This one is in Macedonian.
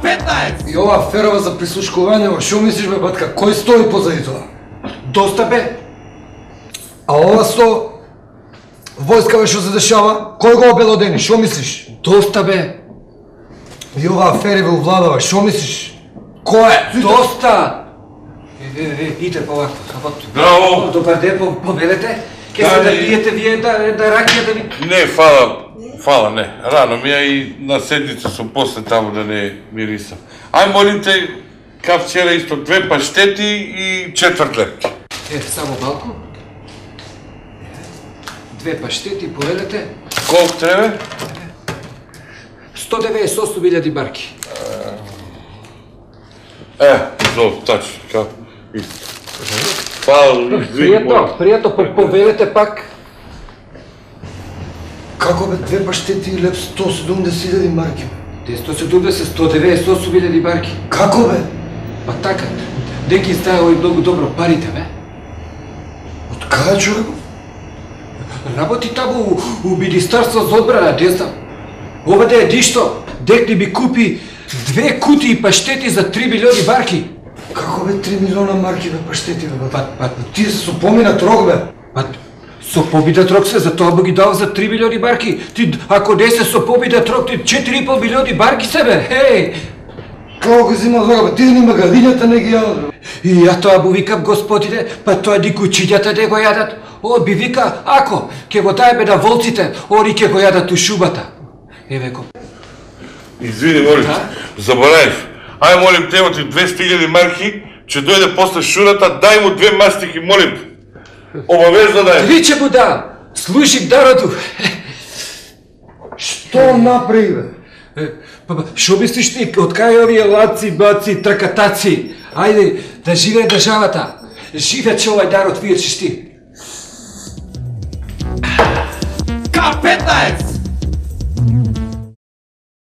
К-15! И ова аферава за прислушкување, шо мислиш бе батка, кој стои позади тоа? Доста бе. А ова со војска бе што се дешава, кој го обелодени, шо мислиш? Доста бе. И ова афери ве увладава, шо мислиш? Кој е? Доста! Иде полако, работи. Браво! Добар ден, повелете. Ке се да пиете вие да ракија да ви... Не, фала, не. Рано ми ја и на седница сум после таму да не мирисам. Ај молим те, ка вчера исто 2 паштети и 4 лепки. Само малку. 2 паштети, повелете. Колку треба? 198.000 барки. Зов, тачно, ка, исто. Фала, Пријатно, повелете пак. Како бе 2 паштети и леп 170.000 марки? 198.000 барки. Како бе? Па така, де ги знае овој многу добро парите, бе? Од каде човек? Работи таму у Министерство за одбрана, не знам. Овде е дишто, дек не ми купи 2 кутии паштети за 3 милиони барки. Како бе 3 милиона марки бе паштети бе? Тие се со поминат рок бе. Со поминат рок се, затоа му ги дав за 3 милиони барки. Ти, ако не се со поминат рок, ти 4,5 милиони барки се бе, хеј! Како го зима рога бе? Тие ни магалињата не ги јадат. И ја тоа му викам, господине, па тоа ни кучињата не го јадат. Он би вика, ако, ќе го даеме на волците, они ќе го јадат у шумата. Еве го. Извини, молим те, заборавив. Ај молим те, оти 200.000 марки, ќе дојде после шурата, дај му 2 мастики, молим те. Обавезно дај. Ви ќе му дам, служим народу. Што направи бе? Шо мислиш ти, од кај овие лаци, баци, тракатаци? Ајде, да живее државата. Живе че овај народ, вие че ти. К-15!